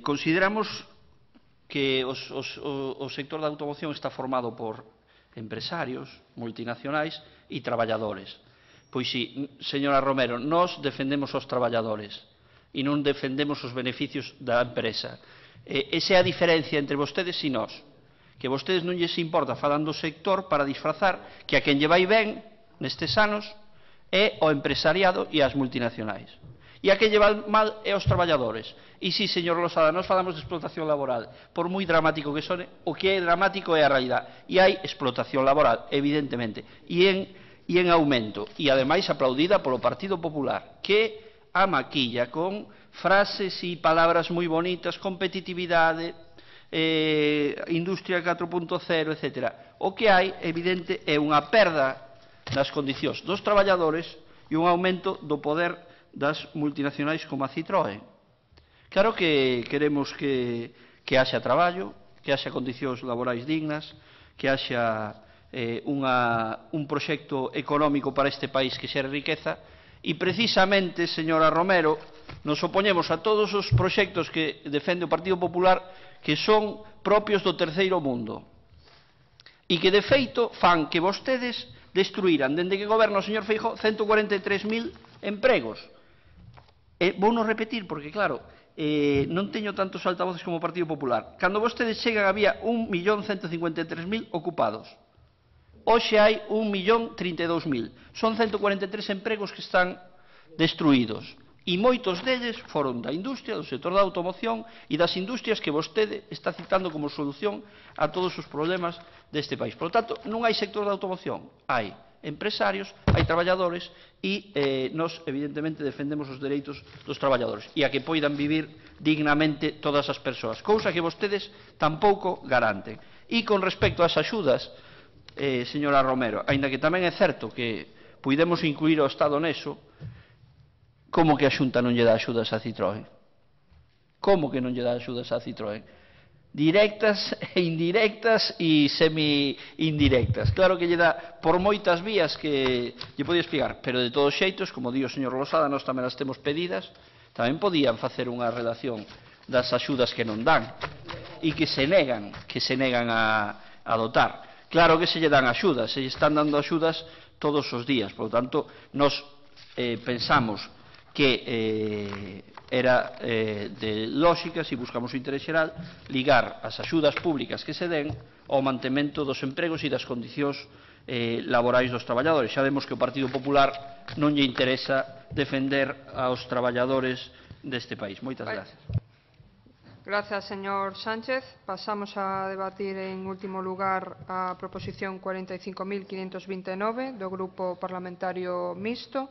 Consideramos que o sector da automoción está formado por empresarios, multinacionais e traballadores. Pois si, señora Romero, nós defendemos os traballadores e non defendemos os beneficios da empresa. Esa é a diferencia entre vostedes e nós, que vostedes non lles importa falando do sector para disfrazar que a quen lle vai ben nestes anos é o empresariado e as multinacionais. E a quen lle vai mal é os traballadores. E si, señor Losada, nós falamos de explotación laboral. Por moi dramático que sone, o que é dramático é a realidade. E hai explotación laboral, evidentemente. E en aumento. E, ademais, aplaudida polo Partido Popular, que a maquilla con frases e palabras moi bonitas, competitividade, industria 4.0, etc. O que hai, evidente, é unha perda das condicións dos traballadores e un aumento do poder das multinacionais como a Citroën. Claro que queremos que haxa traballo, que haxa condicións laborais dignas, que haxa un proxecto económico para este país que xere riqueza e precisamente, señora Romero, nos opoñemos a todos os proxectos que defende o Partido Popular que son propios do terceiro mundo e que de feito fan que vostedes destruíran, dende que goberna o señor Feijóo, 143.000 empregos. Vouno repetir porque, claro, non teño tantos altavoces como o Partido Popular. Cando vostedes chegan había 1.153.000 ocupados. Hoxe hai 1.032.000. Son 143 empregos que están destruídos. E moitos deles foron da industria, do sector da automoción e das industrias que vostede está citando como solución a todos os problemas deste país. Por lo tanto, non hai sector da automoción, hai empresarios, hai traballadores e nós, evidentemente, defendemos os dereitos dos traballadores e a que poidan vivir dignamente todas as persoas, cousa que vostedes tampouco garanten. E con respecto ás axudas, señora Romero, aínda que tamén é certo que puidemos incluir o Estado neso, como que a Xunta non lle dá axudas a Citroën? Como que non lle dá axudas a Citroën? Directas e indirectas e semi-indirectas. Claro que lle dá por moitas vías que lle podía explicar, pero de todos xeitos, como di o señor Losada, nós tamén as temos pedidas, tamén podían facer unha relación das axudas que non dan e que se negan a dotar. Claro que se lle dan axudas, se lle están dando axudas todos os días, por lo tanto, nós pensamos que era de lógica, se buscamos o interés xeral, ligar as axudas públicas que se den ao mantemento dos empregos e das condicións laborais dos traballadores. Xa vemos que o Partido Popular non lle interesa defender aos traballadores deste país. Moitas gracias. Gracias, señor Sánchez. Pasamos a debatir en último lugar a proposición 45.529 do Grupo Parlamentario Mixto.